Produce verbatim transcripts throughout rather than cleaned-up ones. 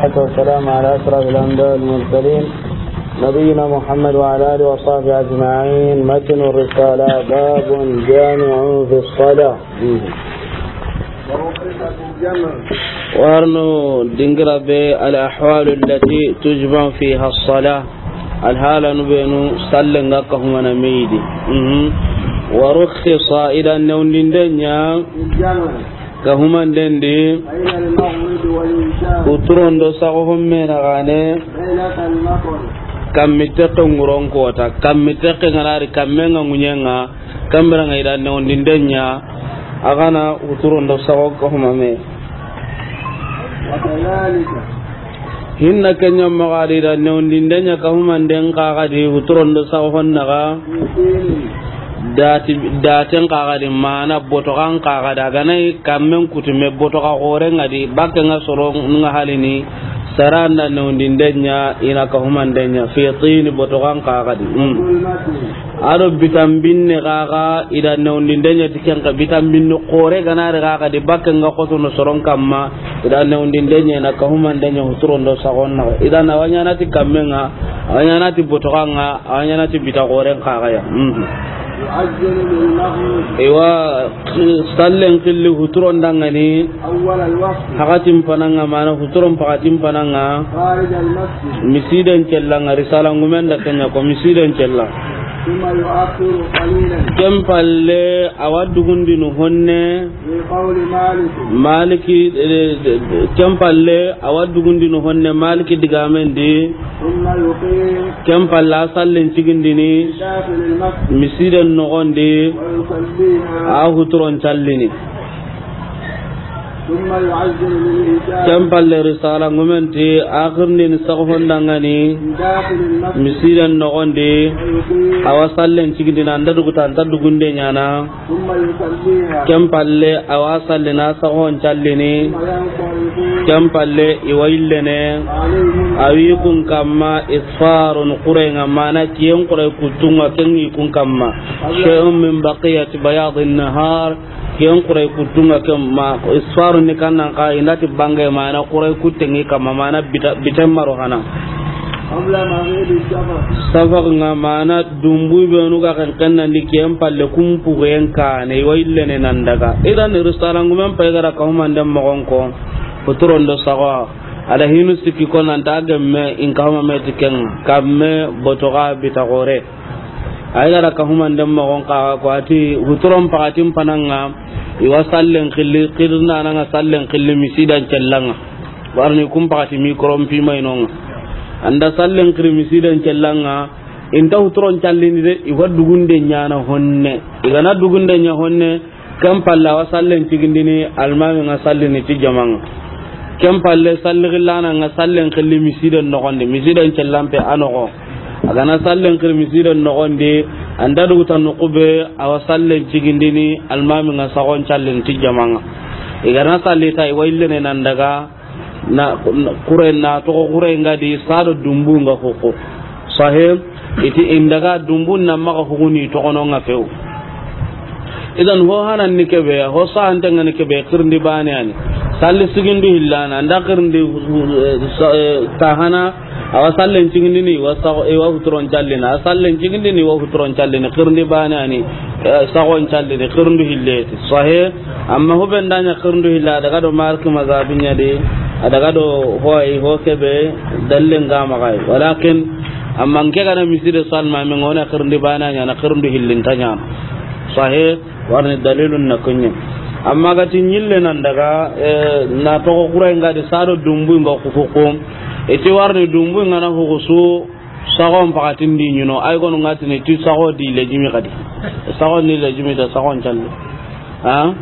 والصلاة والسلام على أشرف الأنبياء والمرسلين، نبينا محمد وعلى آله وصحبه أجمعين. متن الرسالة، باب جامع في الصلاة. Warno dingira be الأحوال التي تجمع فيها الصلاة. Alhaalanu beenu sallen ga kahumana me yi di. Mhm. ورخص, i da newundinden ɲa kahumanden di. Huturon do saxo homme na gane. Kammi tekke ŋuron kota, kammi tekke ŋa na ri, kamme ŋa ŋuɲen ŋa, kambira ŋa i da newundinden ɲa, a gana huturon do saxo kahuma me. Hinna ke ɲa maxa di, i da newundinden ɲa kahumanden xa ga di, huturon do saxo honna ga. Dati, daten xa ga di, mana botoxan xa ga di, a gana i kammen kutu me botoxa xoren ŋa di, bakke ŋa soro ŋa halini, sara nda newundinden ɲa, i na kahumanden ɲa, في طين, botoxan xa ga di. Mm. A do bitanbinne xa ga, i da newundinden ɲa ti ken xa, bitanbinne xore gana ri xa ga di, bakke ŋa xotono soron kamma, i da newundinden ɲa, i na kahumanden ɲa, huturon do saxon na. I da na a wa ɲaana ti kammen ŋa, a wa ɲaana ti botoxan ŋa, a wa ɲaana ti bita xoren xa ga ya. Mhm. يعجل بالمغرب. Iwa, sallen xilli huturon dangani. أول الوقت. Paxatin panan ŋa, mana huturon paxatin panan ŋa. خارج المسجد. Misiden cellan ŋa, risala ŋumen da ken ɲa ko misiden cella. ثم يؤخر قليلا. Ken palle a wa dugundini honne. في قول مالك. Maliki, eh, ken palle a wa dugundini honne Maliki digamen di. ثم يقيم. Ken palle a sallen cigindini. في داخل المسجد. Misiden noxon di. ويصليها. A huturon callini. ثم يعجل بالعشاء. Ken palle risala ŋumen ti a xirindini saxo hondangani. في داخل المسجد. Misiden noxon di. ويقيم. A wa sallen cigindini, an da duguta, an ta dugunde ɲaana. ثم يصليها. Ken palle a wa sallini, a saxon callini. ثم ينصرف. Ken palle i wa yillene. عليهم. A wi kun kamma إسفار, xuren ŋa, mana kiyen xuren kuttun ŋa, ken ŋi kun kamma. شيء من بقية بياض النهار. Ken xuren kuttun ŋa ken ma, إسفار ni kannan xa, i na ti bange mana xuren kutten ŋi kamma, mana bita, biten maro hana. قبل مغيب الشفق. Safaq ŋa mana dumbu benu ga ken kennandi ken palle kumpu ken kane, i wa yillene nan daga. Idan risala ŋumen pay ga da kahumanden moxon ko, huturon do saxo. A da hinu sikki ko nan ta gemme in kahuma me ti ken ŋa, kamme botoxa bita xore. Ay ga da kahumanden moxon xa ko a ti huturon paxatin panan ŋa, i wa sallen xilli, xirindana ŋa sallen xilli misidan cellan ŋa. Warni kun paxati mi koron pi may no ŋa. An da sallen xiri misidan cellan ŋa, i nta huturon callini de, i wa dugunde ɲaana honne. I gana dugunde ɲa honne, ken palle a wa sallen cigindini, almami ŋa sallini ti jaman ŋa. Ken palle salli xillana ŋa sallen xilli misiden noxon di, misiden cellan pe a noxo. A gana sallen xiri misiden noxon di, an da duguta noxu be, a wa sallen cigindini, almami ŋa saxon callini ti jaman ŋa. I gana salli ta, i wa yillene nan daga, na, na, xure, na toxo xure ŋa di, sado dumbu ŋa xuxu. Sahe, i ti in daga dumbu na maxa huguni toxono ŋa few. Idan ho hanan ni kebe, ho sahante ŋa ni kebe, xirindi bane ani. Salli sigindu hillana, an da xirindi, eh, sa-, eh, tahana, a wa sallen cigindini, i wa sa-, i wa huturon callini, a sallen cigindini, i wa huturon callini, xirindi bane ani, eh, saxon callini, xirindu hilleti. Sahe, Amma huben da ɲa xirindu hilla, a daga do Maliki mazabin ɲa di, a daga do hoy ho kebe, dallen ga maxa yi. Walakin, amma nke gana miside salma, min ŋa wona xirindi bana ɲa, na xirindu hillin ta ɲa. Sahe, warni dalilun na kunye. Amma ga ti ɲille nan daga, eh, na toxo xure ŋa di sado dumbu ŋa xuxu. I ti warni dumbu ŋa na huxusu, Saxon paxatin di ɲino, ay gonu ŋa tini ti saxo di lejimi xadi. Saxo ni lejimi da saxon calle. Ha?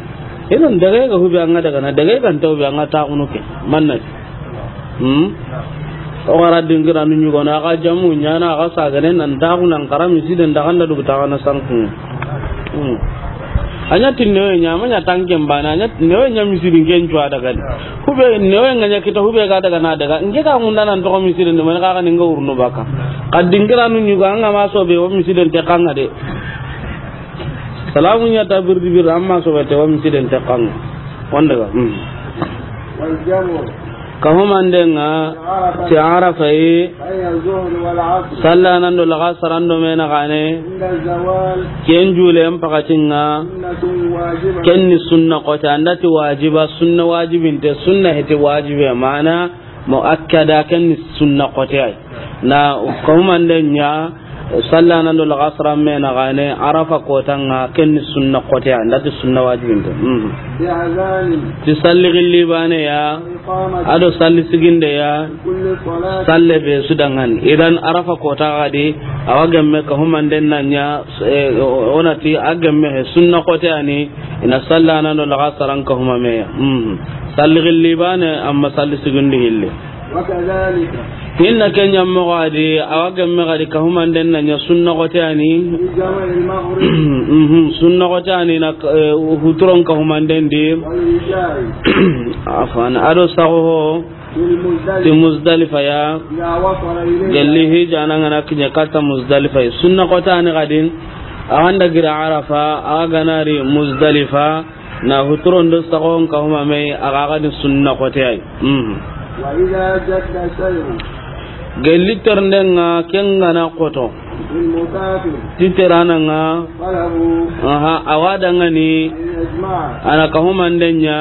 Idan daga ga hubi an ŋa daga na, daga ga nta hubi an ŋa taxunu ke. Manna. Hmm? O gara dingira nu ɲugo na, a ga jamu ɲana, a ga sagane nan taxu nan xara misiden da xanda dugu taxana sanku. Hmm. A ɲa ti newe ɲa, a ma ɲa tanken bana, a ɲa ti newe ɲa misiri nke ncu a daga ni. Hube newe ŋa ɲa kita, hube ga daga na daga. Nke ga munda nan toxo misiri ni, mani xa ga ni nga wurnu baka. Xa dingira nu ɲugo, an ŋa ma sobe, wo misiden te xa ŋa de. Salamu ɲa ta birdi birdi, an ma sobe te, wo misiden te xa ŋa. Wanda ga. Hmm. والجمع. Ka humanden ŋa ti Arafa yi, sallanando laxasaran do me naxane, ken julen pakatin ŋa, ken ni sunna xote, an da ti wajiba, sunna wajibinte, sunna heti wajibe, mana muakkada, ken ni sunna xote ay. Na ka humanden ɲa, sallanando laxasaran me naxane, Arafa kotan ŋa, ken ni sunna xote ay, an da ti sunna wajibinte. Mhm. Ti salli gilli bane ya, a do salli siginde ya, salle be su dangani. Idan Arafa kota gadi, awa gemme ka humanden na ɲa, eh, o na ti a gemme he sunna xote ani, ina sallanando laxasaran ka humame ya. Mhm. Salli gilli bane, amma salli sigindi hilli. Hinna ken ɲa moxo adi, awa gemme gadi ka humanden na ɲa sunna xote ani. Mhm, sunna xote ani na, eh, huturon ka humanden di. Afan, a do saxo ho ti Muzdalifa ya. Gelli hijana ŋa na kiɲe katta Muzdalifa ya. Sunna xote ani gadi, awa ga da giri Arafa, awa ga na ri Muzdalifa, na huturon do saxon ka humame, a ga gadi sunna xote ay. Mhm. Gelli ternden ŋa ken ga na xoto. Ti terana ŋa. Aha, awa dangani. Ana ka humanden ɲa.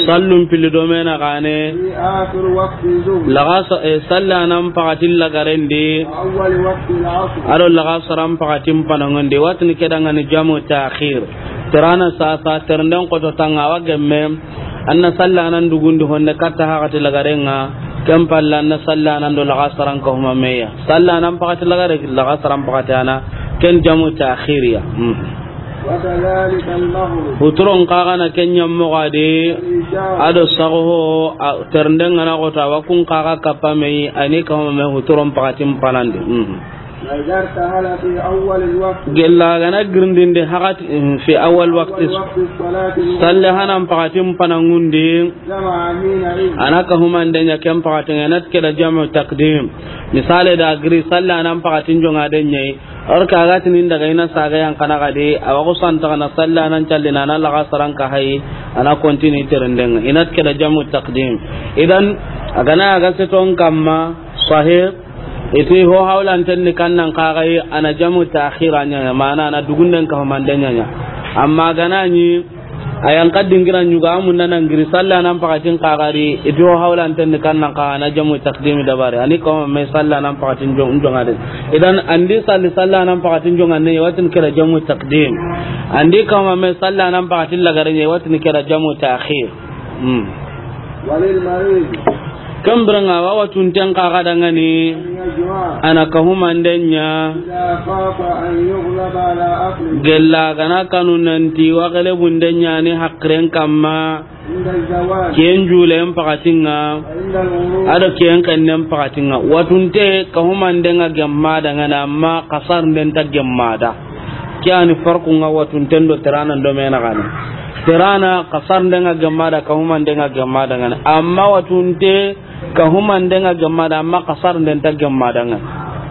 Sallun pili do me naxane. Laxasa, eh, sallanan pakatin lagarendi. A do laxasaran pakatin panangondi. Watini ke dangani jamu takhir. Terana sasa, ternden xoto tanga, awa gemme. An na sallanan dugundi honne katta hakati lagaren ŋa, ken palle an na sallanan do laxasaran ka humame ya. Sallanan pakati lagare, laxasaran pakati ana, ken jamu takhiriya. Mhm. Huturon kaga na ken ɲa moxo adi, a do saxo ho, a, ternden ŋa na xoto, awa kun kaga kappa me yi, ani ka humame huturon pakatin panandi. Mhm. Gella ga na girindinde hakati, mm, fi awal waqti. Salle hanan pakatin panangundi. Ana ka humanden ɲa ken pakatin ŋa, ina ti ke da jamu takdim. Misale da giri sallanan pakatin jonga den ɲa yi. Or ka ga tini daga ina saga yan kana gadi, awa ko santa kana sallanan callina na laxasaran ka hayi, ana continue terenden ŋa. Ina ti ke da jamu takdim. Idan, a ga na a ga seton kamma, sahih, iti ho hawlanten ni kannan kaga yi, ana jamu takhira ɲa, mana ana dugunden ka humanden ɲa ɲa. Amma ga na ɲi, a yan ka dingira ɲuga, a munda na giri sallanan pakatin kaga ri, iti ho hawlanten ni kannan kaga, ana jamu takdimi dabari. Ani ka humame sallanan pakatin jon-, jonga den. Idan, an di salli sallanan pakatin jonga ne, watini ke da jamu takdim. An di ka humame sallanan pakatin lagare ne, watini ke da jamu takhir. Hmm. Ken biren ŋa, awa watunten kaga dangani, ana ka humanden ɲa. Gella ga na kanu nanti wa gelebunden ɲa ni hakiren kamma. Ken julen pakatin ŋa, a do ken xennen pakatin ŋa. Watunte ka humanden ŋa gemma dangani, amma kasarnden ta gemma da. Ke ani farkun ŋa watunten do teranan do me naxane. Terana kasarnden ŋa gemma da, ka humanden ŋa gemma dangani. Amma watunte ka humanden ŋa gemma da, amma kasarnden ta gemma dangani.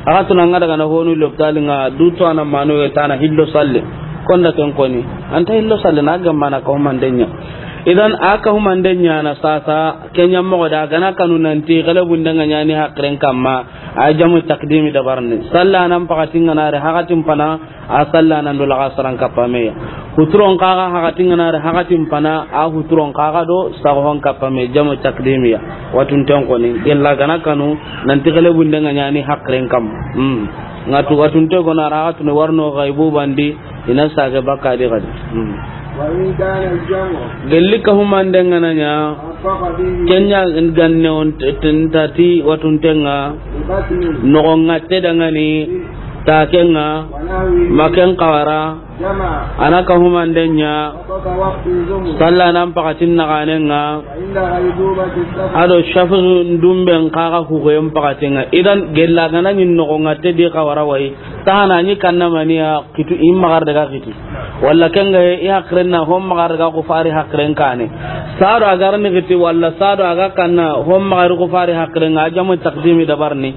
A ga tuna ŋa daga na honu lopitali ŋa, du to ana mano ye tana hillo salle. Konda ken koni. Anta hillo salle na gemma na ka humanden ɲa. Idan a ka humanden ɲa na sasa, ken ɲa moxo da, ga na kanu nanti gelebunden ŋa ɲa ni hakiren kamma, a jamu takdimi dabarni. Sallanan pakatin ŋa na ri hakatin pana, a sallanan do laxasaran kappa me ya. Huturon kaga hakatin ŋa na ri hakatin pana, a huturon kaga do saxo hon kappa me, jamu takdimiya. Watunten koni, gella ga na kanu nanti gelebunden ŋa ɲa ni hakiren kamma. Hmm. Ŋa tu watunte ko na ri hakatunu warno gaibu bandi, ina sage bakka di gadi. Hmm. Gelli ka humanden ŋa na ɲa. Ken ɲa ganne on t-, t-, ntati watunten ŋa. Noxon ŋatte dangani, taken ŋa, ma ken xawara, ana ka humanden ɲa. Sallanan pakatin naxanen ŋa. A do shafu ndumben kaga hugoyen pakatin ŋa. Idan gella ga na ɲi noxon ŋatte di xawara wayi. Tahana ɲi kanna maniya kitu, i maxa ri daga kiti. Walla ken ga i hakiren na, hon maxa ri ga ku fari hakiren kane. Sado a ga ri ni kiti, walla sado a ga kanna, hon maxa ri ku fari hakiren ŋa, a jamu takdimi dabarni.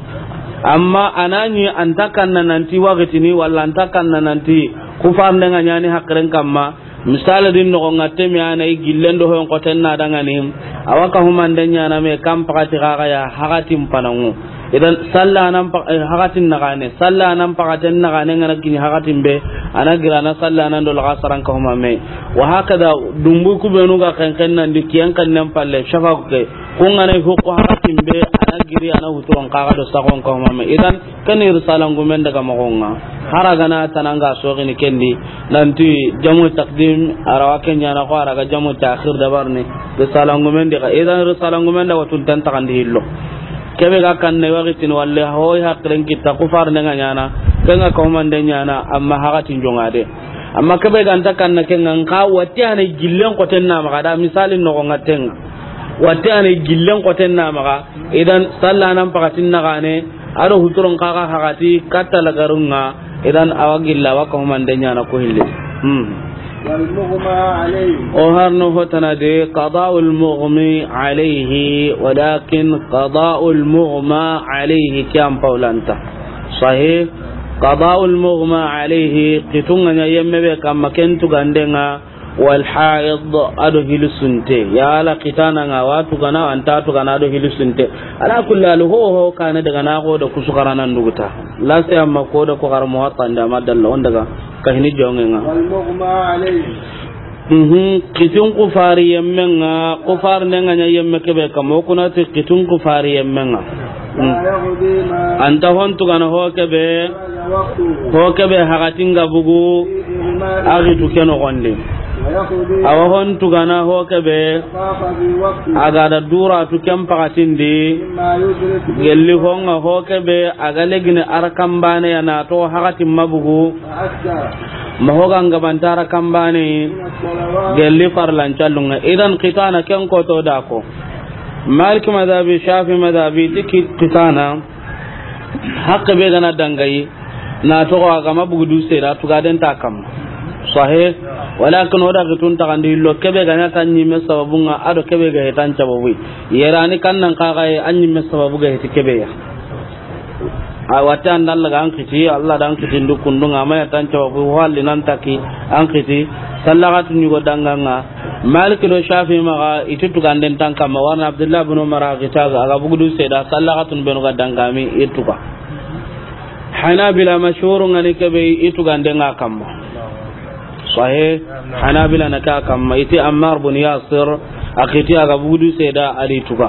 Amma a na ɲi anta kanna nanti wakitini, walla anta kanna nanti ku farnden ŋa ɲa ni hakiren kamma. Misali di noxon ŋa temi a na i gillen do hoyen xoten na dangani, a wa kahumande ɲaana me kan pakati xaxa ya hakatin panangu. Idan salla nan pa-, eh, hakatin naxane, salla nan pakaten naxane ŋa na kini hakatin be, a na gira na salla nan do laxasaran kahuma me. Wa hakada, dumbu kubenu ga xenxen nan di kiyen xennen palle, shafaku ke, kun ŋa na i hukku hakatin be, a na giri, a na huturon xaxa do saxon kahuma me. Idan, Ken ni risalangumen daga moxon ŋa. Hari ga na tananga soxini ken di, nanti jamu takdim, a ra wa ken ɲaana xo, a ra ga jamu takhir dabarini, risalangumen di xa. Idan risalangumen da wa tun tan taxandi hillo. Kebe ga kanne waxitini walle, hoy haqilen kitta, ku farne ŋa ɲaana, ken ŋa kahumande ɲaana, amma hakatin jonŋa de. Amma kebe ga nta kanna ken ŋa, nxa watti a na i gillen xoten na maxa da, misali noxon ŋa ten ŋa. Watti a na i gillen xoten na maxa, idan salla nan pakatin naxane, a do huturon xaxa hakati katta lagarun ŋa, idan a wa gilla, a wa kahumande ɲaana ko hilli. Hmm. والمغمى عليه. O harno hotana de, qada'ul mughmi alayhi, walakin qada'ul mughma alayhi ke an pawlanta. Sahih. Qada'ul mughma alayhi, kitun ŋa ɲa yemme be kamma ken tugande ŋa, wal haid, a do hilisunte. Yala kitana ŋa wa tugana, a nta tugana, a do hilisunte. Ala kulli hal, ho, ho, kane daga na xo da kusu xarana nduguta. Lase amma ko da ko xara Muwatta nda ma dalla on daga kahini jonŋe ŋa. والمغمى عليه. Mhm, kitun ku fari yemme ŋa, ku farne ŋa ɲa yemme kebe kamma, o kuna ti kitun ku fari yemme ŋa. Hmm. Anta hon tugana ho kebe, ho kebe hakatin ga bugu, a gitu ke noxon di. Awa hon tugana ho kebe, a ga da dura tu ken pakatin di, gelli ho ŋa ho kebe, a ga legini a ra kambane ya na to hakatin ma bugu, ma ho ga ngabanta a ra kambane, gelli farlan callun ŋa. Idan kitana ken koto da ko. Malik madhabi, Shafi madhabi, ti ki-, kitana, haqqe be ga na dangayi, na toxo a ga ma bugu du sera, tugaden ta kamma. Sahih, walakin o da kitun taxandi hillo, kebe ga ɲa ta ɲimme sababun ŋa, a do kebe ga hetan sababu. Yerani kan nan xaxaye, a ɲimme sababu ga heti kebe ya. A wati an da Alla ga an kiti, Alla da an kiti ndu kundun ŋa, a ma ya tan cawa bu halli nan taki an kiti, sallakatu ɲugo danganga. Maliki do Shafi maxa, i ti tuganden tan kamma, warna Abdullah bin Umar a kita, a ga bugudu seda, sallakatun benu ga dangami, i tuga. Hanabila mashhurun ŋa ni kebe, i tuganden ŋa kamma. Sahih, Hanabila na ka kamma, i ti Ammar bin Yasir, a kiti a ga bugudu seda, a di tuga.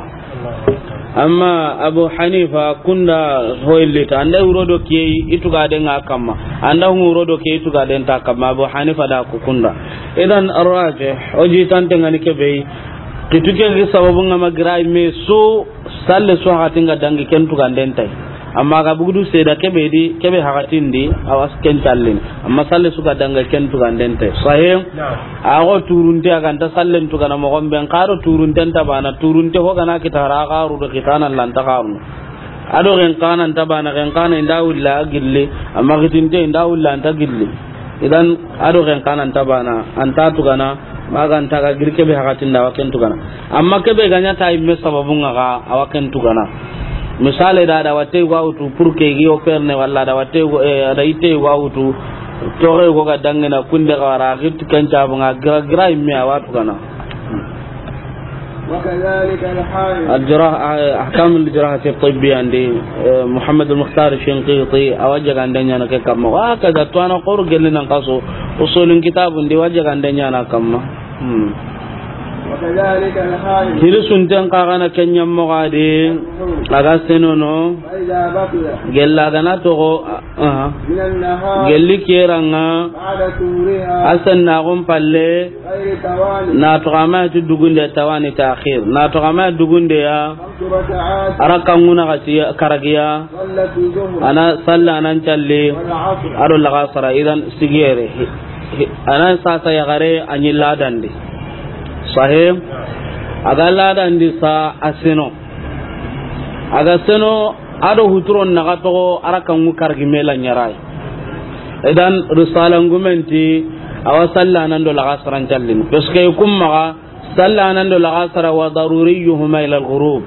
Amma Abu Hanifa kunda hoyillita, anda wuro do kiye i tugaden ŋa kamma, anda hu wuro do kiye i tugaden ta kamma, Abu Hanifa da ku kunda. Idan arrajih, o jitante ŋa ni kebe, kitu ke sababun ŋa ma gira me su, salle su hakatin ga dangi ken tuganden tay. Amma ga bugudu seda kebe di, kebe hakatin di, awa ken tallin. Amma salle su ga danga ken tuganden te. Sahih? Naam. A go turunte a ga nta sallen tugana moxon be, n xa do turunten ta bana, turunte ho ga na kita ra xaru do kitana lanta xaru. A do gen xana nta bana, gen xana inda wulla gilli, amma kitinte inda wulla nta gilli. Idan a do gen xana nta bana, anta tugana, ma ga nta ga giri kebe hakatin da wa ken tugana. Amma kebe ga ɲa ta yimme sababun ŋa ga, a wa ken tugana. Misale da, da watte ga wutu pour que gi operne wala da watte go, eh, da itte ga wutu, toxe go ga dangina kunde ga wara, git ken cabun ŋa, gira, gira yimme a wa tugana. وكذلك الحائض. Al-Jarah-, eh, Ahkam al-Jarahati Tibbiya ndi, eh, Muhammad al-Mukhtar Shinqiti, a wa jagande ɲaana ke kamma. Wa kaza tuwana xoro gelli nan xaso, usulun kitabun di wa jagande ɲaana kamma. Hmm. وكذلك الحائض. Hiri sunten xa ga na ken ɲa moxo di, a ga senono, فإذا بطل. Gella ga na toxo, aha. من النهار. Gelli keranga. بعد طهورها. A sennaxun palle. غير توان. Na toxo a ma ti dugunde, tawani takhir. Na toxo a ma dugunde ya. خمس ركعات. A rakka ŋuna xati karagiya. صلت الظهر. A na salla nan calli. والعصر. A do laxasara, idan sigiyere. Hi-, hi-, a na sasa yaxare a ɲi ladandi. Sahih. A ga ladandi sa a seno. A ga seno, a do huturon na ga toxo, a rakka ŋu kargi me la ɲaray. Idan, risalangumen ti, a wa salla nan do laxasaran callini. Parce que kun maxa, salla nan do laxasara wa daruriyuhuma ila al-ghurub.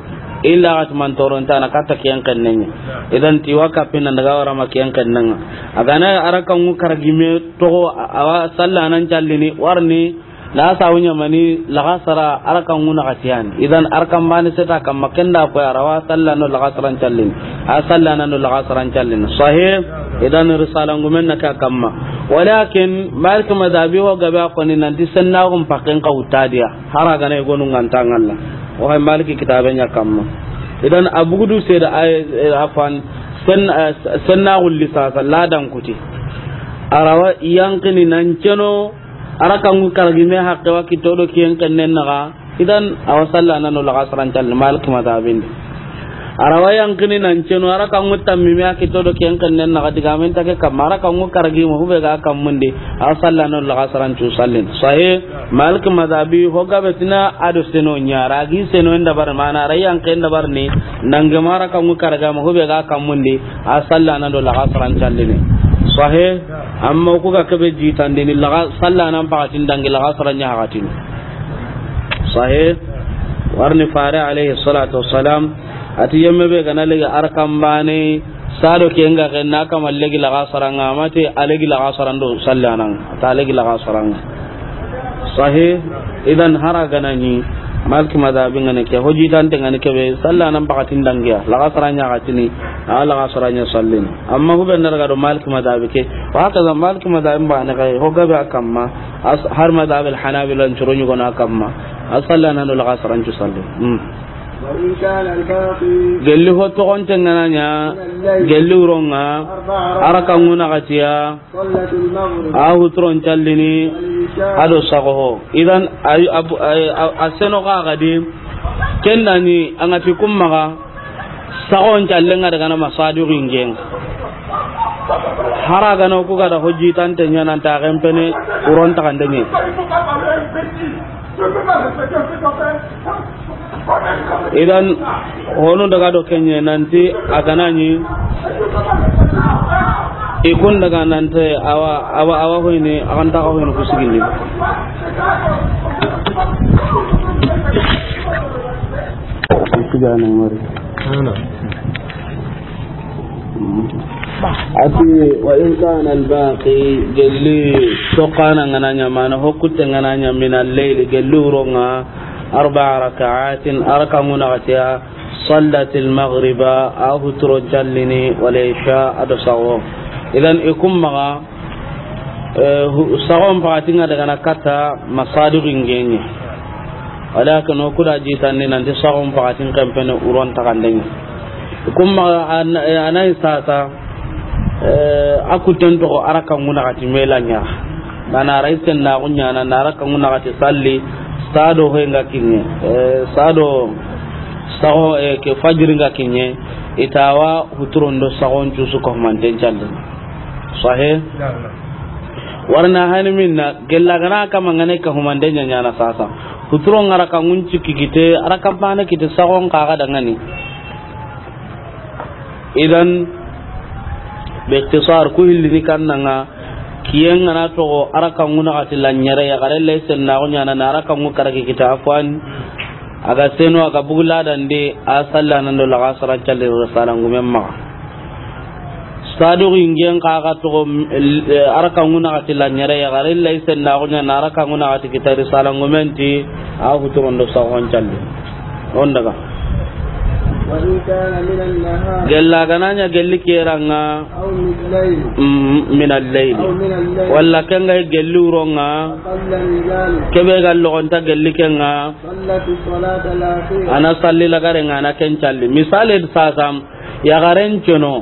Illa ga ti man toron tana katta ken xennen ŋa. Idan ti wa kappin nan daga wara ma ken xennen ŋa. A ga na a raka ŋu karagi me toxo, a wa salla nan callini warni na sawu ɲamani laxasara a raka ŋu naxati yani. Idan a raka mbane seta kamma ken da ko a ra wa salla no laxasaran callini. A salla nan no laxasaran callini. Sahih. Idan risala ngumen na ka kamma. Walakin Malik madhabi ho gabe a koni nanti sennaxun pakken ka wuttadiya. Hara gana i gonu ŋa nta ŋalla. O hay Maliki kitabe ɲa kamma. Idan a bugudu seda ay, eh, afan, sen, eh, sennaxu lisasa ladan kuti. A ra wa yanqini nan ceno, a raka ŋu karagi me haqqe wa kito do kiyen xennen naxa. Idan a wa salla nan no laxasaran callini Maliki madhabin di. A ra wa yanqini nan ceno, a raka ŋu tammi me a kito do kiyen xennen naxa, digamen ta ke kamma, a raka ŋu karagi ma hube ga kammundi, a wa salla nan no laxasaran cu sallini. Sahih. Malik madhabi ho gabe tina a do seno ɲa ra, a gi seno en dabar mana ra yanqen dabar ni, nange ma a raka ŋu karaga ma hube ga kammundi, a salla nan do laxasaran callini. Sahih. Amma ku ga kebe jitandini laxa salla nan pakatin dangi laxasaran ɲa hakatini. Sahih. Warni fare alayhi salatu wassalam ati yemme be gana legi a raka mbane, sado ke nga ke na kama legi laxasaran ŋa, mate a legi laxasaran do salla nan, ta legi laxasaran ŋa. Sahih. Idan hara gana ni Maliki madhabi ŋa ne ke, ho jitante ŋa ne ke be, salla nan pakatin dangiya, laxasaran ɲa hakatini, a laxasaran ɲa sallini. Amma hube na daga do Maliki madhabi ke, wa hakaza Maliki madhabi mbane kay, ho gabe a kamma, as-, har madhab al-Hanabila ncuro ɲugo na kamma, a salla nan do laxasaran cu salli. Hmm. وإن كان الباقي Gelli ho toxonte ŋa na ɲa, من الليل gelli wuron ŋa, أربع ركعات a raka ŋu naxatiya, صلت المغرب a huturon callini, والعشاء a do saxo ho. Idan ay, ab-, ay, a, a seno xa gadi, ken da ni a ŋa ti kumma ga, saxon callen ŋa daga na masadiru ingen. Hara gana ku ga da ho jitante ɲa nan ta xenpene wuron taxande ɲe. Idan honu daga do kenye nanti a gana ni i kun daga nanti awa, awa, awa hoyni, a kan ta hoyni ku sigindi. Sigana mari. Ana. Ati, wa in kana al-baqi, gelli toxana ŋa na ɲa, mana ho kutte ŋa na ɲa, min al-layli, gelli wuron ŋa, arba'a raka'atin, a raka ŋu naxatiya, sallatil maghriba, a huturon callini, wal isha, a do saxo. Idan i kumma ga, Eh, hu-, saxon pakatin ŋa daga na katta masadiru ingen ŋa. Walakin o ku da jitandi nanti saxon pakatin xenpene wuron taxande ŋa. Kumma an-, eh, a na yi sasa, eh, a kutten toxo a raka ŋu naxati me la ɲa. Mana a ra yi sennaxu ɲaana, na a raka ŋu naxati salli, sado hoy ŋa kiɲe, eh, sado saxo, eh, ke fajiri ŋa kiɲe, i ta wa huturon do saxon cusu ko manten calli. Sahih. Warna hani minna, gella gana kama ŋa ne ka humande ɲa ɲaana sasa. Huturon ŋa raka ŋun cikki kite, a raka mbane kite saxon xa ga dangani. Idan, bi ikhtisar, ku hillini kanna ŋa, kiyen ŋa na toxo, a raka ŋu naxati la ɲere, yaxare lay sennaxu ɲaana, na a raka ŋu karagi kite, afwan. A ga seno, a ga bugu ladan di, a salla nan do laxasaran calli risala ngumen maxa. Sadu ingen xa ga toxo, eh, a raka ŋu naxati la ɲere, yaxare lay sennaxu ɲaana, a raka ŋu naxati kite risala ngumen ti, a huturon do saxon calli. On daga. وإن كان من النهار Gella gana ɲa gelli keran ŋa, أو من الليل mm, min al-layl. أو من الليل Walla ken ga gelli wuron ŋa, أقل من ذلك kebe ga logonta gelli ken ŋa. صلت الصلاة الأخيرة. A na salli lagare ŋa, a na ken calli. Misali sasa, yaxaren ceno.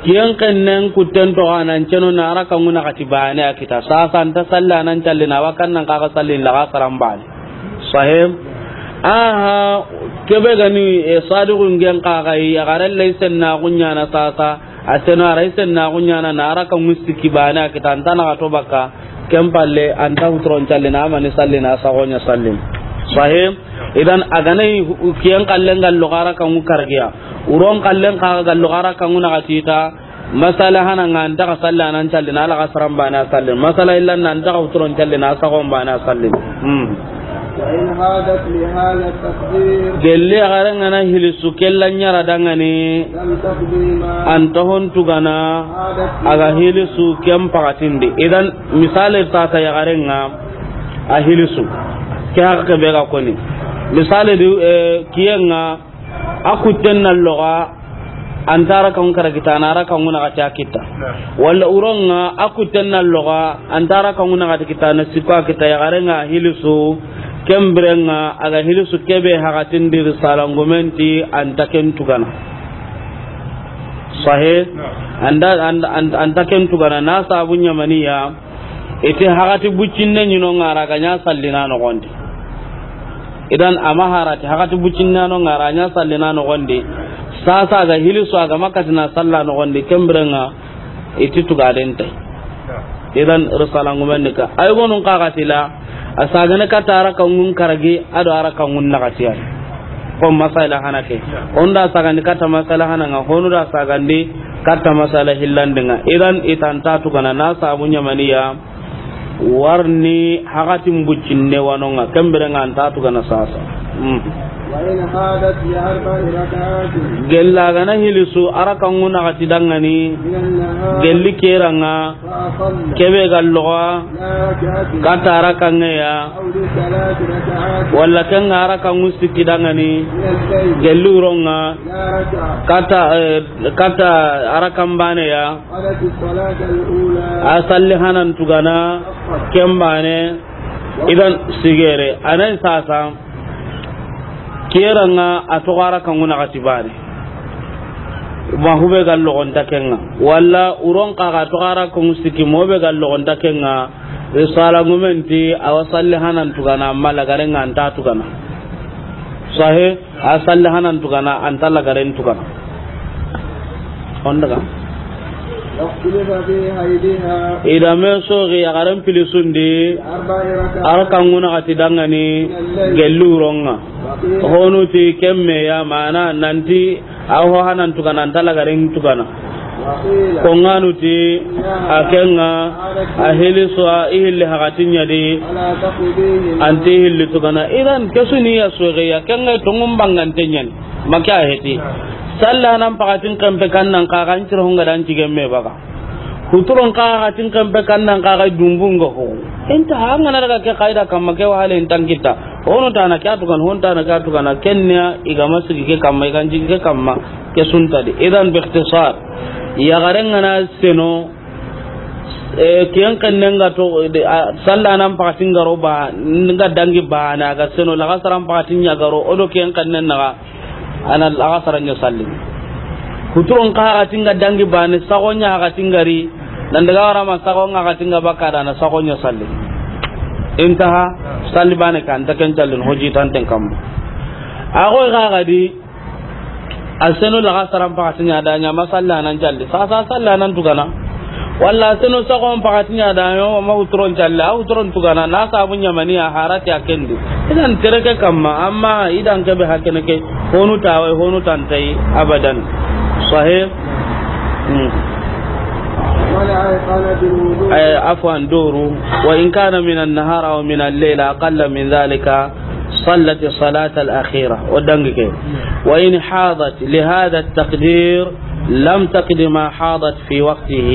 Kiyen xennen kutten toxo a nan ceno na a raka ŋu naxati bane a kita. Sasa a nta salli a nan calli na wa kan nan xa ga salli laxasaran bane. Sahih. Aha, kebe gani, eh, sadu ingen xa ga yi, yaxare lay sennaxu ɲaana sasa. A seno a ra yi sennaxu ɲaana na a raka ŋu sikki bane a kita, a nta naxato bakka. Ken palle, a nta huturon calli na, a mani salli na, a saxo ɲa salli. Sahih. Idan a gana yi hu-, kiyen xallen ga loxo a raka ŋu kargiya. Wuron xallen xa ga loxo a raka ŋu naxati ta. Masala hana ŋa a nta xa salli a nan calli na, a laxasaran bane a salli. Masala illan na a nta xa huturon calli na, a saxon bane a salli. Hmm. فإن حاضت لهذا التقدير. Gelli yaxaren ga na hilisu ke la ɲaara dangani. لم تقض ما. An ta hon tugana. حاضت. A ga hilisu ken paxatindi. Idan, misali ta ta yaxaren ga a hilisu. Ke haqa ke be ga koni. Misali di, eh, kiyen ga a kutten na loxa, an ta raka ŋu kara kita, a na raka ŋu naxati a kita. Walla uron ga a kutten na loxa, an ta raka ŋu naxati kita, a na sikko a kita, yaxaren ga hilisu, ken biren ga a ga hilisu ke be haxatindi, risalangumen ti an ta ken tugana. Sahe? An da, an, an, an ta ken tugana, na sabu ɲa mani ya, i ti haxati buccinne ɲi no ŋa ra ga ɲa sallina noxondi. Idan a ma harati haxati buccinne no ŋa ra ɲa sallina noxondi. Sasa ga hilisu a ga ma katina salla noxondi, ken biren ga i ti tugaden tay. Idan risalangumen ni ka. Ay gonun kaxati la, a sagane katta a raka ŋun karagi, a do a raka ŋun naxati ya. Ko masala hana ke. Hon da sagandi katta masala hana ŋa, honu da sagandi katta masala hillandi ŋa. Idan i ta an ta tugana na sabu ɲa mani ya, warni haxatin buccinne wa no ŋa, ken biren ga an ta tugana sasa. Mm. وإن حاضت لأربع ركعات. Gella ga na hilisu a raka ŋu naxati dangani. من النهار. Gelli ke ra ŋa. فأقل. Ke be ga loxa. لا ركعة. Katta a raka ŋe ya. أو لثلاث ركعات. Walla ken ga a raka ŋu sikki dangani. من الليل. Gelli uron ga. لا ركعة. Katta, eh, katta a raka mbane ya. قضت الصلاة الأولى. A salli hanan tugana. Ken bane. Idan sigere anan sasa. Ke ra ŋa a toxo a raka ŋu naxati bane. Ma hube ga loxon ta ken ŋa. Walla uron xa ga toxo a raka ŋu sikki, mo be ga loxon ta ken ŋa. Risalangumen ti a wa salli hanan tugana, amma lagaren ŋa an ta tugana. Sahe? A salli hanan tugana, an ta lagaren tugana. On daga. واختلف في حيضها. I da me soxi yaxaren pilisundi. أربع ركعات. A raka ŋu naxati dangani. من الليل. Gelli uron ga. وقيل. Honu ti ken me ya mana nanti a ho hanan tugana, an ta lagaren tugana. وقيل. Ko ŋanu ti, إنها. A ken ŋa, a hilisu a i hilli haxatin ɲa di. ولا تقضيهما. An ti hilli tugana. Idan ke su ni ya soxi ya, ken ŋa tongun bangante ɲa ni. Maka heti. Salla nan paxatin kempe kan nan xa ga an ciro honga dan cigemme baga. Huturon xa ga tin kempe kan nan xa ga dumbunga ho. Inta hanga na daga ke qaida kamma ke wahale intan kita. Hono tana ke atukan, hon tana ke atukan, kenya i ga ma sigi ke kamma, i ga n jigi ke kamma, ke sunta di. Idan bi ikhtisar. Yaxaren ga na seno, e, kiyen xennen ga to, de, a, salla nan paxatin ga ro ba, nga dangi ba, na ga seno, laxasaran paxatin ɲa ga ro, o do kiyen xennen na ga, a na laxasaran ɲa salli. Huturon xa haxatin ga dangi ba, ni saxon ɲa haxatin ga ri, nan daga wara ma saxon haxatin ga baka da na saxon ɲa salli. Intaha, salli bane kan ta ken callin, hoji tanten kamma. A xoy xa ga di, A seno laxasaran paxatin ɲa da ɲa ma salla nan calli. Sasa salla nan tugana. Walla a seno saxon paxatin ɲa da ɲa ma huturon calli. A huturon tugana. Na sabu ɲa mani a harati a kendi. Idan tere ke kamma. Amma idan ke be hakene ke. Honu tawai, honu tantai. Abadan. Sahih. Hmm. ولا أيقنت الوضوء. Eh, afwan, duru. وإن كان من النهار أو من الليل أقل من ذلك. صلت الصلاة الأخيرة. O dangi ke. وإن حاضت لهذا التقدير لم تقض ما حاضت في وقته.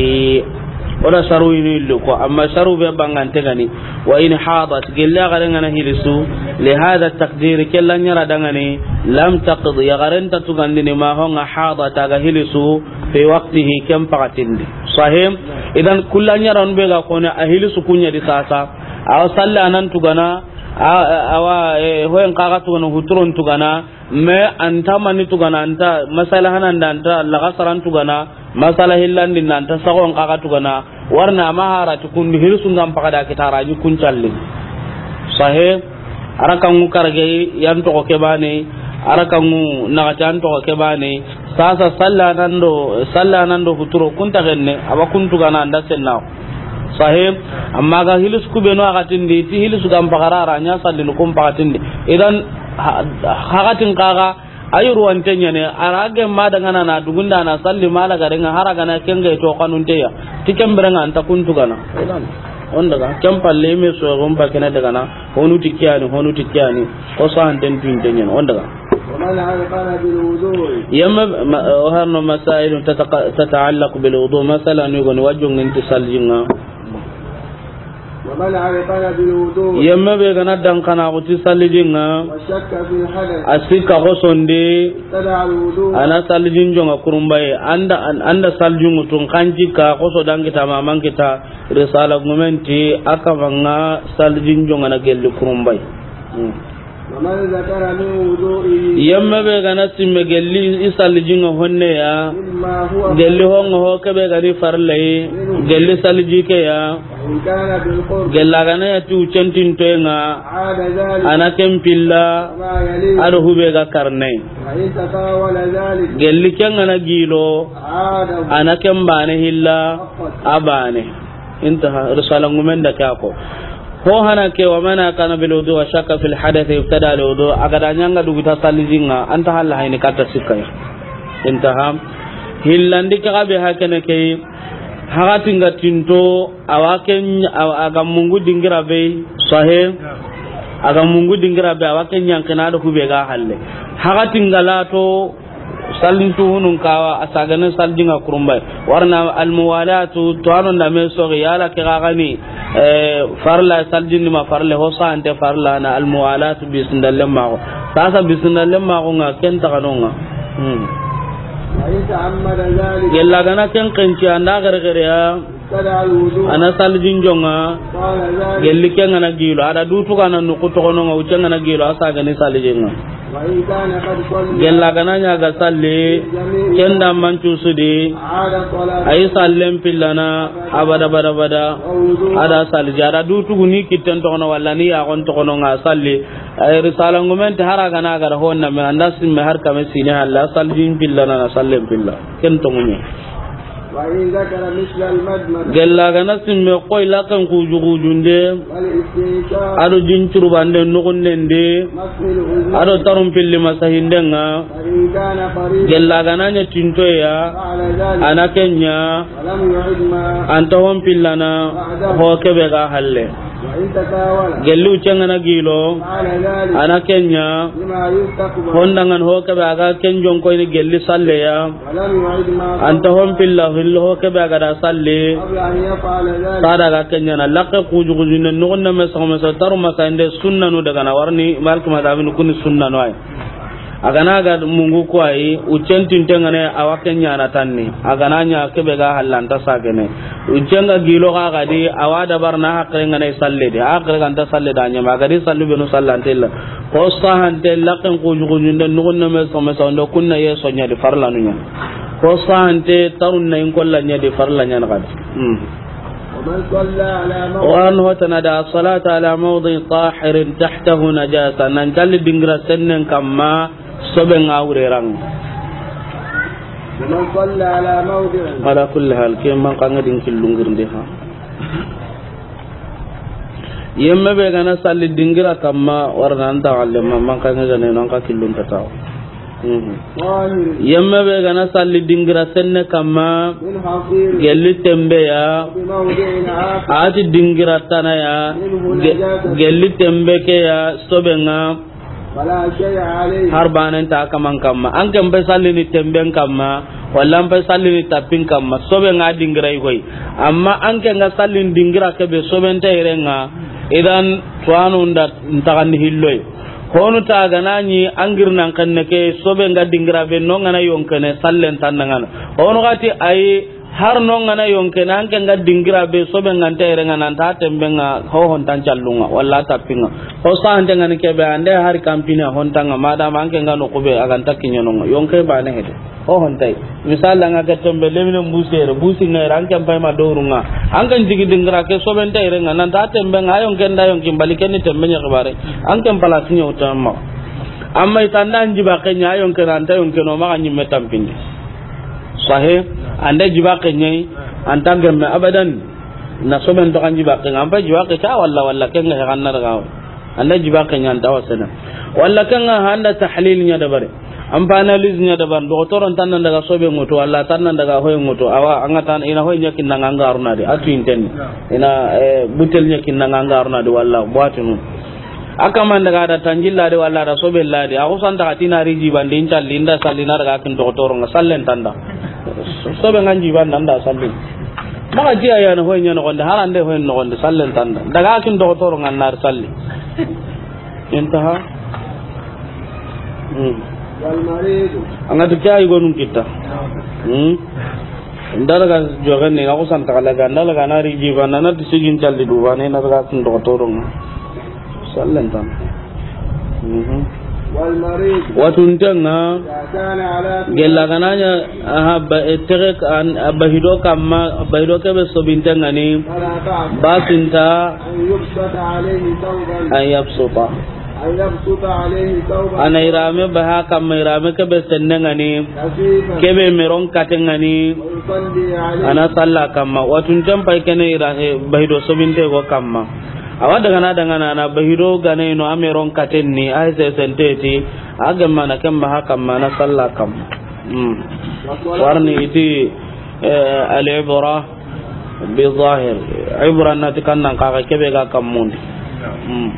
O da saru ini illu ko, amma saru be bangante gani. وإن حاضت, gelle yaxaren ga na hilisu, لهذا التقدير, ke la ɲaara dangani, لم تقض, yaxaren ta tugandini, ما, honga, حاضت, a ga hilisu, في وقته, ken paxatindi. Sahih? Idan, ku la ɲaaranu be ga koni, a hilisu ku ɲa di sasa. Awa salla nan tugana, A, a, awa, eh, hoyen xa ga tugana, huturon tugana, mais an ta mani tugana, an ta masala hanan da, an ta laxasaran tugana, masala hillandi na, an ta saxon xa ga tugana, warna ma harati kundu, hilisu nga n paxada kitara, a ɲi kun calli. Sahih, a ra kanŋu karage yan toxo ke bane, a ra kanŋu naxati an toxo ke bane, Sasa salla nan do, salla nan do huturo kunta genne, a wa kun tugana an da senna. Sahih, amma ga hilis ku be no a ga tindi, ti hilis ga n paxara a ra ɲa sallini kun paxatindi. Idan, ha-, haxatin xa ga, a yurwante ɲa ne, a ra ge ma daga na na dugunda na salli ma la ga renga, hara ga na ken ga to kanunte ya. Ti ken bire nga an ta kun tugana. Idan. O n daga, ken palle me soxon ba kene daga na, honu ti ke ya ni, honu ti ke ya ni, ko sahanten tunte ɲen, o n daga. ومن أيقن بالوضوء. Yemme, ma, o harno مسائل تتق-، تتعلق بالوضوء, masala ni goni wa jonŋen ti salijin ŋa. ومن أيقن بالوضوء. Yemme be ga na dankana ko ti salijin ŋa. وشك في الحدث. A sikka xosondi. ابتدع الوضوء. A na salijin jonŋa kurumbaye. An da, an, an da salijin ŋutun kanji ka xoso dankita ma mankita. Risala ŋumen ti a kaman ŋa salijin jonŋana gelli kurumbay. Hmm. ومن ذكر من وضوئه. Yemme be ga na simme gelli i salijin ŋa honne ya. مما هو. Gelli honŋa ho ke be ga ni farlay. منه. Gelli saliji ke ya. وإن كان بالقرب. Gella ga na ya ti wuccentintoyen ŋa. عاد ذلك. A na ken pilla. ما يليه. A do hube ga karne. وإن تطاول ذلك. Gelli ken ga na gilo. عاد. A na ken bane hilla. فقط. A bane. Intaha, risala ŋumen da ke ya ko. Ho hana ke, ومن أيقن بالوضوء وشك في الحدث ابتدع الوضوء, a ga da ɲa ŋa duguta salijin ŋa, an ta halla hayni katta sikka ya. Intaha. Hillandi ke ga be hakene ke, hakatin ga tinto, a wa ken, a, a ga mungu dingira be, sahe, a ga mungu dingira be, a wa ken ɲankina do hube ga halle. Hakatin ga lato, Salin tuhunun kawa, a sagane saljin ŋa kurumbay. Warna almuwalatu, to ano ndame sogi, yala ke ga gani, eh, farla saljin ni ma farle, ho sante farla na almuwalatu bisindallen mago. Sasa bisindallen mago ŋa, ken taganonga. Hmm. وإن تعمد ذلك. Gella gana ken kenci anda gare gare ya. ابتدع الوضوء. A na salijin jonŋa. قال ذلك. Gelli ken ga na gilo. A da dutu ga na nuku toxono ŋa, wucce ga na gilo, a sagani salijin ŋa. وإن كان قد صلى. Gella gana ɲa ga salli. جميع. Ken da mancu sudi. عاد صلاته. Ay sallen pillana. Abada, bada, bada. ووضوءه. A da saliji. A da dutu ni kitten toxono walla ni yaxon toxono ŋa salli. Ay risala ŋumen ti hara gana ga da honna me anda simme har kame sine halla salijin pillana na sallen pilla. Ken tongume. وإن ذكر مثل المضمضة. Gella gana simme koy laken kuju kujunde. والاستنشاق. Ado jin curbande nugunnende. ومسح الأذنين. Ado tarun pilli masahinden ŋa. فإن كان قريبا. Gella gana ɲa tintoya. فعل ذلك. A na ken ɲa. ولم يعد ما. Anta hon pillana. بعده. Ho kebe ga halle. وإن تطاول. Gelli wucce ga na gilo. فعل ذلك. A na ken ɲa. بما يستقبل. Hondangan ho kebe a ga ken jonkoyni gelli salleya. ولم يعد ما. Anta hon pilla hillo ho kebe a ga da salli. قبل أن يفعل ذلك. Sada ga ken ɲa na lakke kuju kujunde nugunne me soxo me soxo taru masande sunnanu daga na warni malki madabin kuni sunnanu ay. A gana ga mungu ko ay, wuccen tinte ŋa ne, a wa ken ɲa na tanni. A gana ɲa kebe ga hallanta sagene. Wuccen ga gilo ga gadi, a wa dabar na hakre ŋa ne salle de. Hakre ganta salle da ɲama, a gadi sallu benu sallante la. Ko sahante lakken kuju kujunde nugunne me soxo me soxo ndo kunna ye soɲa di farlanu ɲa. Ko sahante tarun na in kolla ɲa di farla ɲa na gadi. Hmm. ومن صلى على موضع. Wa an hotana da salata ala mawdi tahirin tahtahu najasa. Nan calli dingira sennen kamma sobe ŋa wurerang. ومن صلى على موضع. Ala kulli hal, ke man kanga din killungirnde ha. Yemme be gana salli dingira kamma warna anta galle ma man kanga gane nan ka killun tataw. Mhm. طاهر. Yemme be gana salli dingira senne kamma. من حصير. Gelli tembe ya. بموضع آخر. Ati dingira tana ya. منه. Ge-, نجاسة. Gelli tembe ke ya sobe ŋa. فلا شيء عليه. Har banen ta kaman kamma. An ken be sallini temben kamma. Walla an be sallini tappin kamma. Sobe ŋa dingira i koy. Amma an ken ga sallin dingira ke be soben ta irenga. Idan tuwanu nda ntagandi hilloy. Honu ta gana ɲi an girnan kenne ke sobe nga dingira be no ngana yonkene sallen tandangana. Honu gati ay har no ngana yonkene an ke nga dingira be sobe nganta ere ngana ta tembe nga hohon tan callunga walla tappinga. Ho sahante ngani kebe ande hari kampini a hontanga madama an ke nga no kube aganta kiɲanonga yonke bane hede. Ho hontay. Misal nga ke tembe lemine mbusere, busi nga ere, an ke mpay ma dorunga. An ke jigi dingira ke sobenta ere nga, nanta tembe nga, ayon ke nda yon kimbali ke ni tembe nya kibare. An ke palasi nya utamma. Amma itanda njiba ke nya ayon ke nanta yon ke no ma nyimme tampindi. Sahe, anda jiba ke nya, anta gemme abadan. Na soben to kan jiba ke nga, ampa jiba ke ka walla walla ke nga he kan na daga. Anda jiba ke ɲanta wasena. Walla ke nga handa tahlil ɲa dabari. An pa analyse ɲa da ban, doxotoro nta nan daga sobe ŋutu, walla ta nan daga hoye ŋutu, awa, an ga ta i na hoye ɲa kinna ŋa an ga runa di, a tu inten. I na, eh, butel ɲa kinna ŋa an ga runa di, walla boitenu. A kaman daga da tanjilla di, walla da sobe la di, a xusan ta xa ti na ri jibandi, in calli, in da salli, na daga kin doxotoro ŋa, sallen ta an da. Sobe ŋa n jibandi, an da salli. Maxa jiya ya na hoye ɲa noxon di, harande hoye noxon di, sallen ta an da. Daga kin doxotoro ŋa, na ri salli. Intaha. Hmm. An ga ti ke ya i gonun kitta. Hmm. N da daga joxen ni, na xusan ta xa laga, n da laga na ri jiba, na na ti sigin calli duba ne, na daga kun doxotoro ŋa. Sallen ta an da. Mhm. Watunten ŋa, gella ga na ɲa, aha, ba, e, tege, an, a bahido kamma, bahido ke be sobinten ŋa ni, basinta, an yabsuta. A na yirame baha kamma, yirame ke be sennen ŋa ni, ke be meron katen ŋa ni, a na salla kamma. Watunten pay ke ne yira, e, bahido sobinte go kamma. Awa daga na, daga na, na bahido gane no, a meron katen ni, a sesente ti, a gemma na kemma ha kamma, na salla kamma. Hmm. Warni iti, eh, al-ibra bi zahir. Ibra na ti kannan kaga kebe ga kammun. Hmm.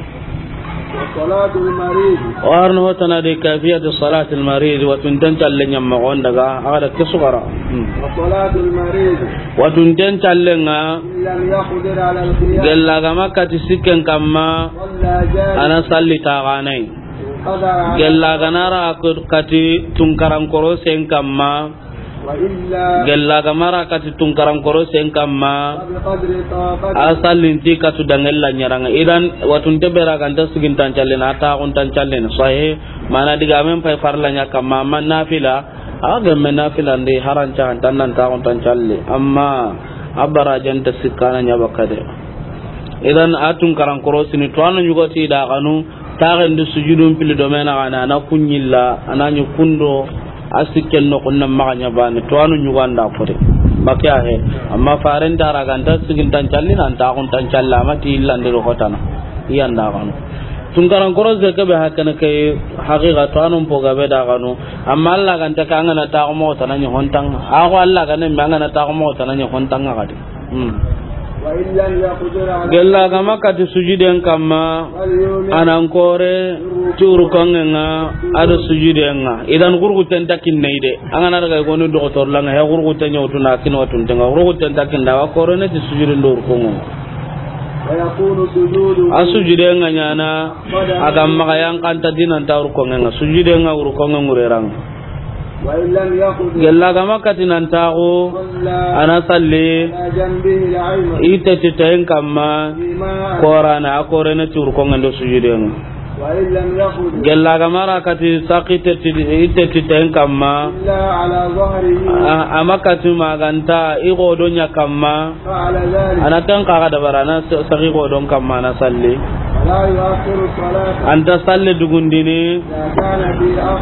Wa salatul marid. Warni hotana de kayfiyatu salatul marid, watunten calle ɲamma gon daga, a ga da ke sugara. Hmm. Wa salatul marid. Watunten calle ŋa, lam yaqdir ala al-qiyam. Gella ga ma kati sikken kamma, a na salli taxanai. Gella ga na ra kati tunkaran korosen kamma. Gella ga ma ra kati tunkaran korosen kamma, a sallin ti katu dangella ɲaranŋa. Idan, watunte be ra ga nta sigintan callini, a taxuntan callini. Sahih, mana digamen pay farla ɲa kamma, amma nafila, a gemme nafila ndi haranca, antan nan taxuntan calli. Amma a barajen ta sikkana ɲa bakka de. Idan, a tunkaran korosini, to a na ɲugoti da xanu, taxen di sujudun pili do mena xana, a na kuɲilla, a na ɲi kundo, a sikken no kunna maxa ɲa bani, to a na ɲuganda kore. Make a he, amma faren ta ra ga nta sigintan calli, nan taxuntan calli, amma ti illandi do hotana, iyanda xanu. Tunkaran korose ke be hakana ke, haqiqa to a na mpo gabe da xanu, amma Allah ga nta ka an ga na taxu mo tana ɲi hontanga. A ko Allah ga ne me an ga na taxu mo tana ɲi hontanga kadi. Hmm. Gella ga ma kati sujuden kamma, a nan kore ti rukuŋen ŋa, a do sujuden ŋa. Idan gurguten ta kinne de. An ga na daga goni doxotor la ŋa, he gurguten ɲa wutu na kin watunten ŋa. Gurguten ta kinda wa kore ne ti sujuden do rukuŋen ŋa. A sujuden ŋa ɲana, a ga maxa yan kanta dinan ta rukuŋen ŋa. Sujuden ŋa rukuŋen ŋureran. Gella ga ma kati nan taxu, a na salli i tetti tayen kamma, korana a korene ti rukuŋen do sujuden ŋa. Gella ga ma ra kati saki tetti, i tetti tayen kamma, a, a ma kati ma ga nta i godo ɲa kamma. A na ken kaga dabara, a na sa-, sagi godon kamma, a na salli. An ta salli dugundini.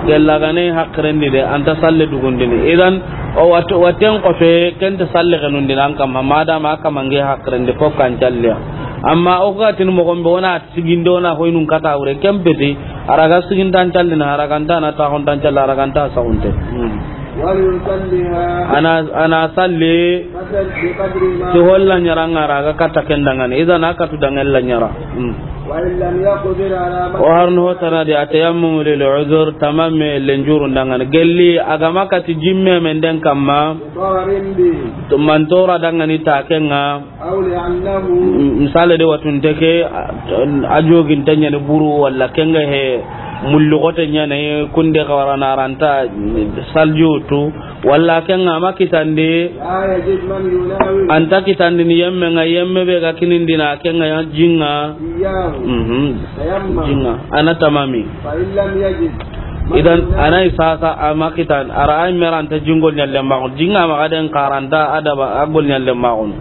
Gella ga ne hakirendi de, an ta salli dugundini. Idan, o wat-, waten kofe, ken ta salli genundini an kamma, madama a kamma nge hakirendi, fo kan calliya. Amma o ga tin mogon be, o na siginde, o na hoynun kata wure, ken peti, a ra ga sigintan callini, a ra ga nta na taxuntan calli, a ra ga nta saxunte. Hmm. A na, a na salli ti holla ɲaranŋa ra ga katta ken dangani. Idan a katu dangen la ɲara. Hmm. O harno hotana di, atayammumu lil uzur, tamamme lenjuru dangani. Gelli a ga ma kati jimme men den kamma, to mantora dangani ta ken ŋa. M-, misale de, watunte ke, a, a joginte ɲani buru, walla ken ga he mullugote ɲani, kunde xawarana a ra nta salju tu, walla ken ga ma kitandi, a nta kitandini yemme ŋa, yemme be ga kinindina ken ŋa ya jinŋa. Mhm. Jinŋa. A na tamami. Idan, a na i sasa a ma kitan, a ra ay me ra nta jingol ɲalle maxun. Jinŋa ma ga den xa ra nta adaba a gol ɲalle maxun.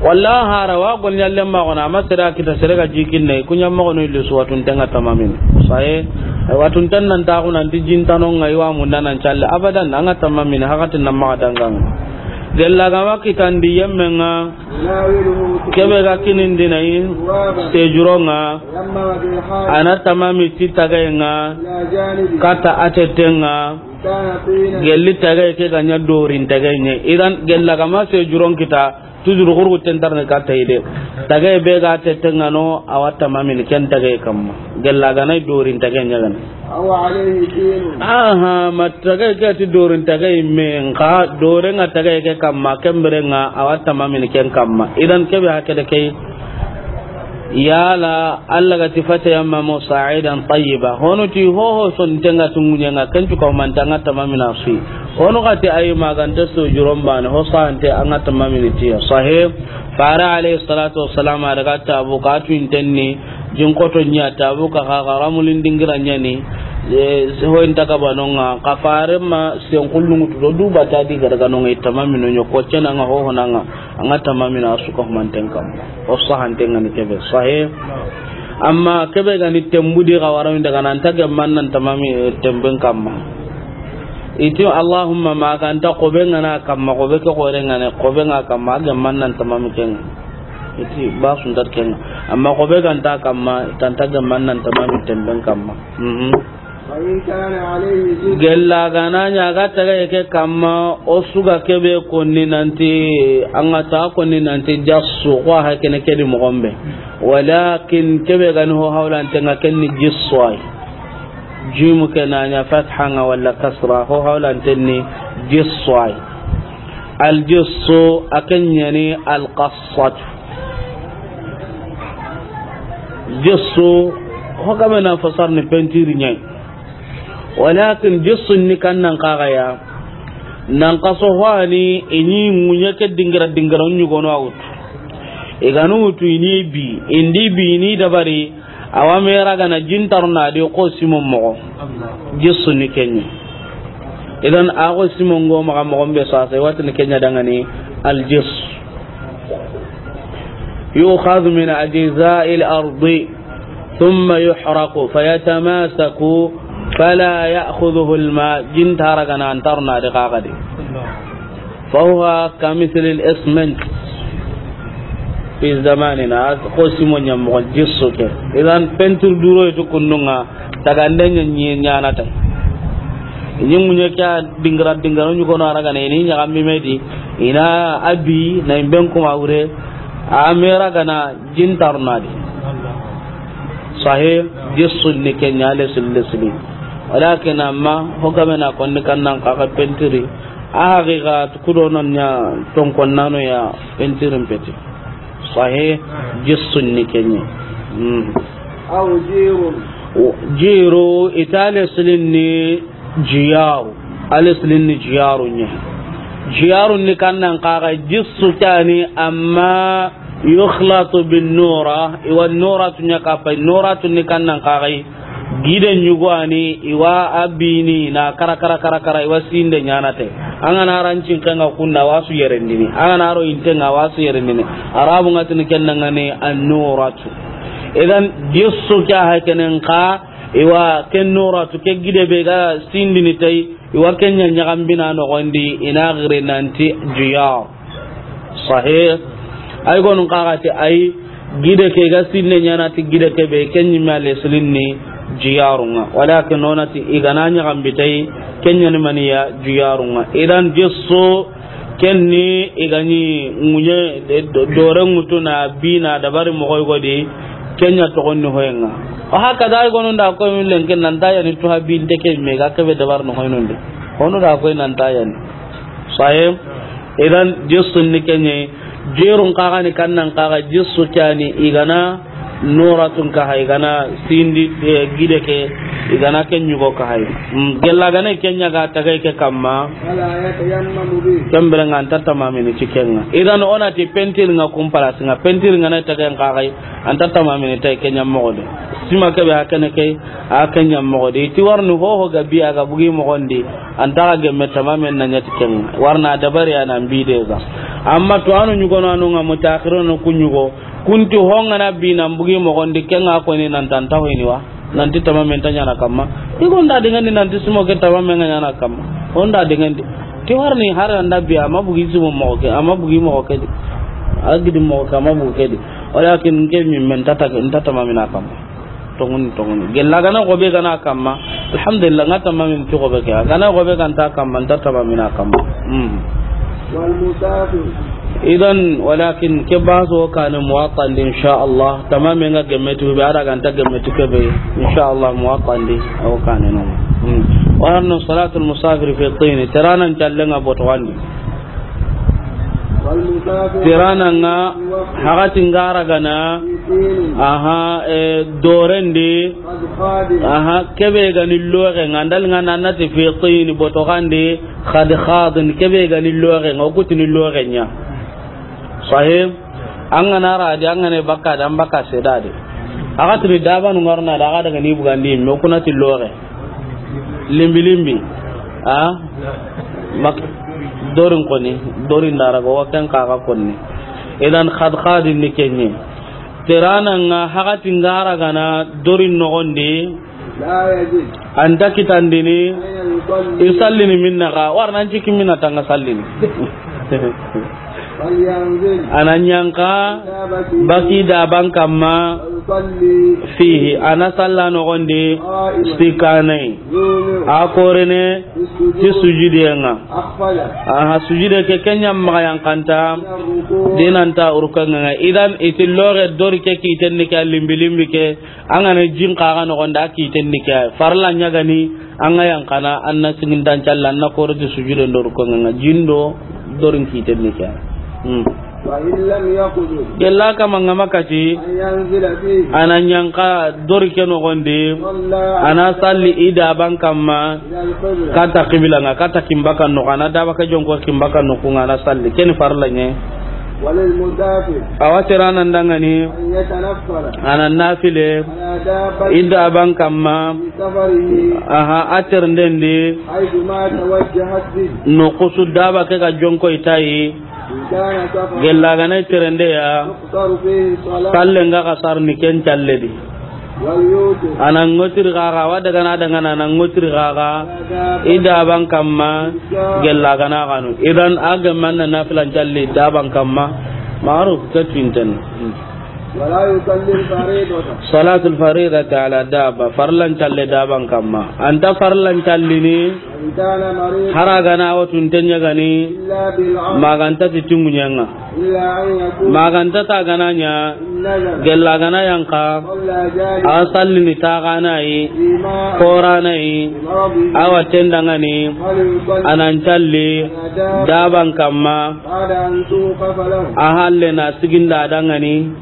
Walla hara wa gol ɲalle maxun, a ma sere a kita, sere ga jikinne, ku ɲa maxunu illi su watunten ŋa tamamin. Saye, watunten nan taxu nanti jintanon ŋa i wa munda nan calle. Abadan, an ga tamamin, hakatin nan maxa dangan. Gella ga ma kitandi yemmen ŋa, kebe ga kinindini a yi sejuron ŋa, a na tamami ti tagayen ŋa, kata a tetten ŋa, gelli tagaye ke ga ɲa dorin tagaye ɲa. Idan gella ga ma sejuron kita, toujours xurgu tentarni kata yi de. Tagaye be ga tetten ŋa no, a wa tamamini ken tagaye kamma. Gella ga na dorin tagaye ɲa gana. Aha, ma tagaye ke ti dorin tagaye me, nxa doren ŋa tagaye ke kamma, ken bire ŋa a wa tamamini ken kamma. Idan kebe hakada ke. Yala Allah ga ti: "Fatayammamu sa'idan tayyiba." Honu ti hoho sonten ŋa tungunyen ŋa, ken cu ka manta ŋa tamamina sui. Honu ga ti ayi, ma ga nta sejuron bane, ho sante a ŋa tamamini tiya. Sahih. Fare alayhi salatu wassalam a daga Tabuka, a tu intenni, jin koto ɲa Tabuka, xa ga ramulin dingira ɲa ni, e, ho inta ka banonga, xa fare ma sen kullungu tu do du bata di gargano ŋa, i tamamino ɲo ko cena ŋa, ho hona ŋa, a ŋa tamamina a su ka humanten kamma. O sahanten ŋa ni kebe. Sahih. Amma kebe ga ni tembu di ga wara min daga nan ta gemman nan tamami, e, temben kamma. I ti Allahumma ma ga nta xobe ŋa na kamma, xobe ke xoren ŋa ne, xobe ŋa kamma, a gemman nan tamami ken ŋa. I ti ba suntat ken ŋa. Amma xobe ga nta kamma, i ta nta gemman nan tamami temben kamma. Mhm. Gella ga na ɲa ga tagaye ke kamma, o su ga kebe konni nanti, a ŋa ta konni nanti jassu, ko a hakene ke di moxo be. Walakin kebe ga ni ho hawlanten ŋa, ken ni jissu ay. Jimu ke na ɲa fatha ŋa wala kasra, ho hawlanten ni jissu ay. Al jissu, a ken ɲa ni al qassatu. Jissu, ho ga me na fasar ni peinture ɲa yi. Walakin jissu ni kan nan kaga ya. Nan kaso ho a ni, i ni ŋuɲe ke dingira dingira ɲugono a wutu. I ga nu wutu i ni bi, i ndi bi i ni dabari, a wa me ra ga na jin taruna di ko simo moxo. Jissu ni ken ɲa. Idan a ko simo ngo maxa moxo be sasa, i wa ti ni ken ɲa dangani al jissu. يؤخذ من أجزاء الأرض ثم يحرق فيتماسك فلا يأخذه الماء. Jin tara ga na an taruna di kaga di. فهو كمثل الإسمنت في زماننا. Ko simo ɲa moxo jissu ke. Idan peinture duro itu kundunga. Taganden ɲa ɲaana ta. I ni ŋuɲe ke dingira dingira ɲugono a ra ga na i ni ɲaxambi me di, i na a bi na i ben kuma wure, a me ra ga na jin taruna di. Sahih, jissu ni ken ɲa, lesili lesili. Walakin amma ho ga me na konni kan nan kaga peinture. A haqiqa kudo nan ɲa ton konnano ya peinture mpeti. Sahih, jissu ni ken ɲa. Hmm. أو جير. Jiru, i ti a lesilin ni jiyaru. A lesilin ni jiyaru ɲa. Jiyaru ni kan nan kaga jissu ke ni, amma يخلط بالنورة. I wa noratu ɲa kappa, noratu ni kan nan kaga gide ɲugo a ni, i wa a bini na kara kara kara kara, i wa sinde ɲaana te. An ga na rancin ken ŋa kunna, a wa su yerendini. An ga na ro inte ŋa, a wa su yerendini. Arabu ŋa ti ni ken nan ŋa ni an noratu. Idan jissu ke hakenen ka, i wa ken noratu ke gide be ga sindini tay, i wa ken ɲa ɲaxambina noxon di, i na giri nanti jiyar. Sahih. Ay gonun kaga ti ay gide ke ga sinne ɲaana ti gide ke be, ken ɲi me a lesilin ni jiyarun ŋa. Walakin o na ti i ga na ɲaxambi tay, ken ɲa ni maniya jiyarun ŋa. Idan jissu ken ni i ga ɲi ŋuɲe, e, do-, dore ŋutu na bi na dabari moxo yogo di, ken ɲa toxon ni hoyen ŋa. O haka da ay gonun da ko min lenke nan ta ya ni tuha binte ke me ga kebe dabar no hoynon de. Honu da ko nan ta ya ni. Sahih. Idan jissu ni ken ɲa. Jirun kaga ni kan nan kaga jissu ke ni i ga na noratun kaha, i ga na sindi, e, gide ke, i ga na ken ɲugo kaha. Mm, gella ga na ken ɲa ga tagay ke kamma. ولا يتيمم به. Ken bire ŋa an ta tamamini ti ken ŋa. Idan o na ti peinture ŋa kun place ŋa, peinture ŋa na tagay kaga, an ta tamamini tay ken ɲa moxo di. Sima kebe hakene ke, a ken ɲa moxo di. Ti warni hoho ga bi a ga bugi moxon di. An ta ga gemme tamamen na ɲa ti ken ŋa. Warna dabari a na bi de ga. Amma to anu ɲugo no anu ŋa mutakhirun ku ɲugo. Kunti ho ŋa na bi nan bugi moxon di, ken ŋa ko ni nan tan ta hoyni wa. Nanti tamamen ta ɲaana kamma. I gonda dingandi nanti simo ke tamamen ŋa ɲaana kamma. Honda dingandi. Ke warni har anda bi, ama bugi sibo moxo ke, ama bugi moxo ke di. A gidi moxo ke, ama bugi ke di. Walakin ke mi men tata, n tata ma mina kam. Tongoni, tongoni. Gella gana gobe gana kamma. Alhamdulillah, ngata ma min ti gobe ke. Gana gobe ganta kamma, n tata ma mina kamma. Hmm. Wal musafir. Idan, walakin ke baso kane Muwatta ndi, insha Allah. Tamame nga gemme tu be, ara ganta gemme tu ke be, insha Allah, Muwatta ndi, o kane no. Hmm. Wa anna salatul musafir fi tin. Terana n challe nga boto wandi. Terana nga hagati ngara gana, aha, e, dorendi, aha, kebe gani loxe nga, ndal nga nanati fi tin, boto gandi, khad khadin, kebe gani loxe nga, okutini loxe nya. Sahih. An gana ra di, an gana bakka da, an bakka seda di. Aga tiri dabanu ngarna da, aga daga ni bugandi, me kunati loxe. Limbi limbi. A? Mak-, dorin koni, dorin dara go waken kaga konni. Idan khad khadin ni kenye. Terana nga hagati ngara gana dorin nogondi. Anta kitandini. I sallini minna ga, warna n ciki minna tanga sallini. Ana ñanka baki daban kamma. Fihi, ana salla nogondi. Sikanai. A korene ti sujudiyenga. Aha, sujude ke kenya maga yankanta. Dinanta urkanga. Idan iti loxe dori ke kitenni ke limbi limbi ke. An gana jin kaga nogonda, a kiten ni ke. Farla ñagani, an ga yankana, an na sigindan calla, an na koroti sujude ndor ko nga jin do, dorin kiten ni ke. Hmm. Wa in lam yaqdir. Gella kama nga makati. An yanzila fihi. Ana ñanka dori ke nogondi. Salla. Ana salli i daban kamma. Ila al-qibla. Kata qibla nga, kata kimbakan no, ana daba ka jonko kimbakan no, ku nga ana salli. Ken farla ñe. Walil musafir. Awa terana ndangani. An yatanaffala. Ana nafile. Ala dabbati. I daban kamma. Fi safarihi. Aha, a terendendi. Haythu ma tawajjahat bihi. No kusu daba ke ga jonko i tayi. In kana safaran. Gella gana terende ya. Tuqsaru fihi salat. Salle nga ga sarni ken calle di. Ana ngotiri gaga, wa daga na daga na, ana ngotiri gaga. I daban kamma, gella gana ganu. Idan a ga manna nafilan calli daban kamma. Maruf ka tinten. Wala yusalli al-faridata. Salatul faridati ala dabba. Farlan calle daban kamma. Anta farlan callini. Hara gana watun tenya gani. Maganta ti tungunyanga. Maganta ta gananya. Gella gana yanka. A sallini ta ganayi. Koranayi. Awa tendangani. Anan calli. Daban kamma. A halle na siginda dangani.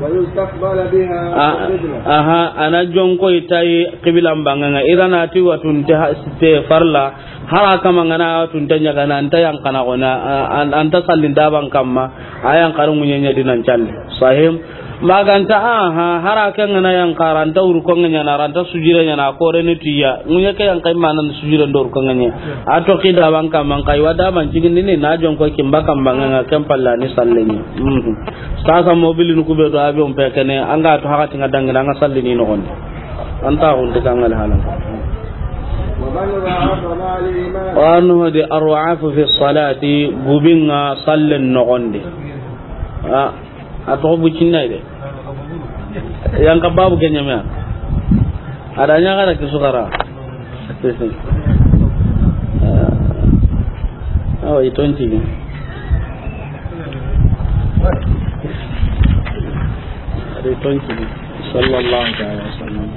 Aha, ana jonko i tayi qiblan banganga. Irana ti watun te farla. Hara kama ngana tunta ñagana, anta yankana gona, a-, an-, anta sallin daban kamma, a yankaru ŋuñeña dinan calli. Sahim. Maganta, aha, hara ke ngana yankara, anta urko ŋeñana, anta sujire ñana, kore ni tiya. Ŋuñe ke yankai manan sujire ndor ko ŋeñe. A toki daban kamma, nkai wa daban cigindini, na jonko kimba kamma, nga kempalla ni salleñi. Mhm. Sasa mobili nu kube do avion pekene, anga to hakati nga dangina, anga sallini no gonde. Anta hunde kangal halan. Wa man dha'afa ma'al iman. Wa annahu di arwa'afu fi salati, gubinga sallen nogondi. A, a to bucinna de. Yanka babu kenyame. Ada ñagara ki sukara. Awa, i tonti. Ada i tonti. Sallallahu ta'ala wa sallam.